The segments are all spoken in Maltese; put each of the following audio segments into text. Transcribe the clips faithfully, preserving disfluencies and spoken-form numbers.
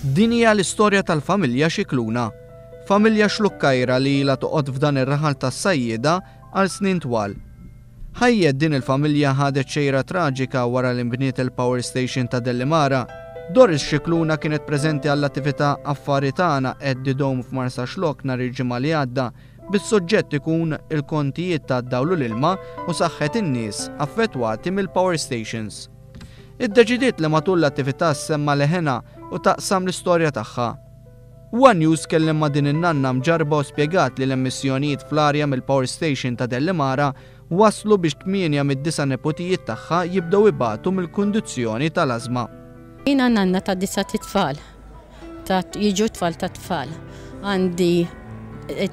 Din hija l-istorja tal-familja Scicluna. Familja Xlukkajra li ilha toqgħod f'dan ir-raħal tas-sajjieda għal snin twal. Ħajjet din il-familja ħadet xejra traġika wara li nbniet il-power station ta' Delimara. Doris Scicluna kienet preżenti għall-attività Affari Tagħna at the Dome f'Marsaxlokk nhar il-Ġimgħa li għadda, bis-suġġett ikun il-kontijiet ta' dawl u l-ilma u saħħet in-nies affettwati mill-power stations. Iddeċidiet li matul l-attività ssemma' leħenha u taqsam l-istorja tagħha. One News kellem ma' din in-nanna mġarba u spjegat li l-emissjonijiet fl-arja mill-power station ta' Delimara waslu biex tmienja mid-disa' nepotijiet tagħha jibdew ibatu mill-kundizzjoni tal-ażma. Jiena nanna ta' disa' tfal, ta' jiġu tfal ta' tfal. Għandi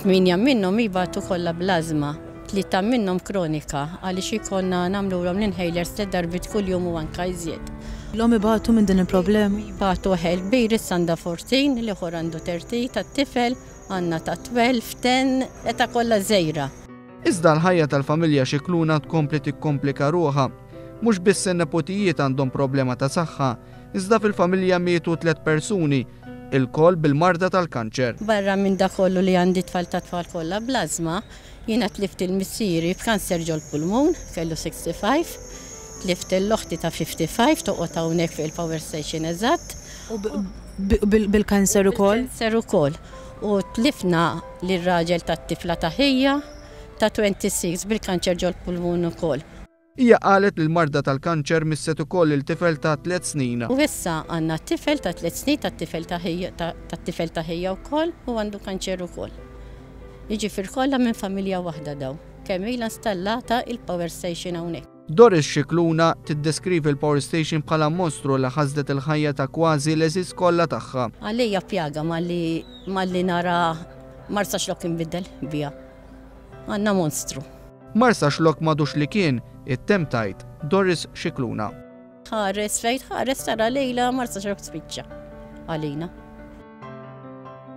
tmienja minnhom jibatu kollha bl-ażma, tlieta minnhom kronika, għaliex ikollna nagħmluhom l-inhalers tliet darbiet kuljum u anka iżjed. L-om ibatu minn din il-problema? Ibatu ħel kbir, issa għandha erbatax, l-ieħor għandu tletin, tat-tifel, għandna ta' tnax, għaxra, età kollha żgħira. Iżda l-ħajja tal-familja Scicluna tkompli tikkomplika ruħha. Mhux biss in-nepotijiet għandhom problema ta' saħħa, iżda fil-familja mietu tliet persuni, ilkoll bil-marda tal-kanċer. Barra minn da kollu li għandi tfal ta' tfal kollha bl-ażma, jiena tlift il-missieri b'kanser ġol-pulmun, kellu ħamsa u sittin, tlift l-oħti ta' ħamsa u ħamsin, toqgħod hawnhekk fil-power station eżatt. U bil-kanser ukoll? Bil-kanser ukoll. U tlifna lir-raġel tat-tifla ta' ħija ta' sitta u għoxrin bil-kanċer ġol-pulmun ukoll. Hija qalet li l-marda tal-kanċer misset ukoll il-tifel ta' tliet snin. U issa għandna tifel ta' tliet snin tat-tifel ta' ħija tat-tifel ta' ħija wkoll u għandu kanċer ukoll. Jiġifieri kollha minn familja waħda daw. Kemm ilha installata il-power station hawnhekk. Doris Scicluna tiddeskrivi l-power station bħala mostru li ħasdet il-ħajja ta' kważi l-għeżież kollha tagħha. Għalija pjaga malli malli nara Marsaxlokk inbidel biha. Għandna monstru. Marsaxlokk m'għadux li kien, ittemm tgħid Doris Scicluna. Ħares fejn ħares tara lejla Marsaxlokk spiċċa għalina.